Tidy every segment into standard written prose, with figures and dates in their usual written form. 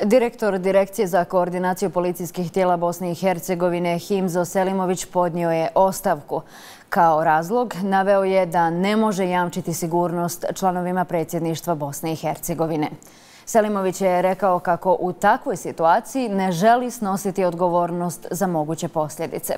Direktor Direkcije za koordinaciju policijskih tijela Bosne i Hercegovine Himzo Selimović podnio je ostavku. Kao razlog naveo je da ne može jamčiti sigurnost članovima predsjedništva Bosne i Hercegovine. Selimović je rekao kako u takvoj situaciji ne želi snositi odgovornost za moguće posljedice.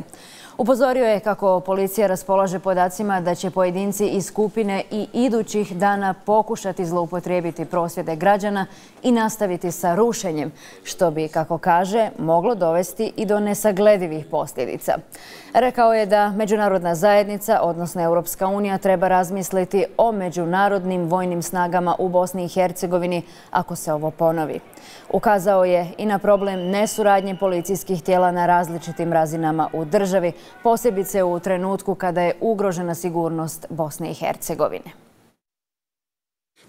Upozorio je kako policija raspolaže podacima da će pojedinci iz skupine i idućih dana pokušati zloupotrijebiti prosvjede građana i nastaviti sa rušenjem, što bi, kako kaže, moglo dovesti i do nesagledivih posljedica. Rekao je da međunarodna zajednica, odnosno Europska unija, treba razmisliti o međunarodnim vojnim snagama u Bosni i Hercegovini ako se ovo ponovi. Ukazao je i na problem nesuradnje policijskih tijela na različitim razinama u državi, posebice u trenutku kada je ugrožena sigurnost Bosne i Hercegovine.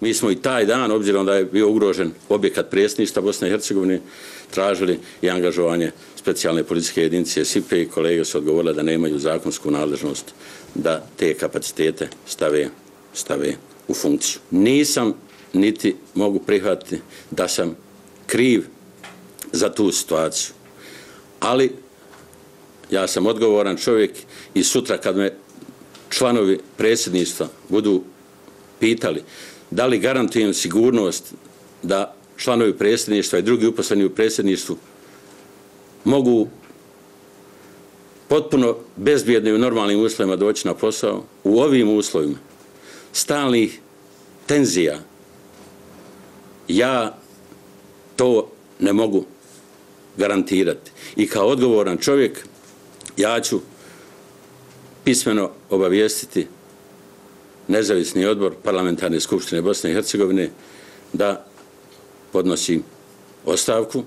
Mi smo i taj dan, obzirom da je bio ugrožen objekat predsjedništva Bosne i Hercegovine, tražili i angažovanje specijalne policijske jedinice SIPE i kolege su odgovorile da nemaju zakonsku nadležnost da te kapacitete stave u funkciju. Nisam niti mogu prihvatiti da sam kriv za tu situaciju, ali ja sam odgovoran čovjek i sutra kad me članovi predsjedništva budu pitali da li garantujem sigurnost da članovi predsjedništva i drugi uposleni u predsjedništvu mogu potpuno bezbjedno i u normalnim uslovima doći na posao, u ovim uslovima stalnih tenzija, ja to ne mogu garantirati. I kao odgovoran čovjek ja ću pismeno obavijestiti Nezavisni odbor Parlamentarne skupštine Bosne i Hercegovine da podnosim ostavku.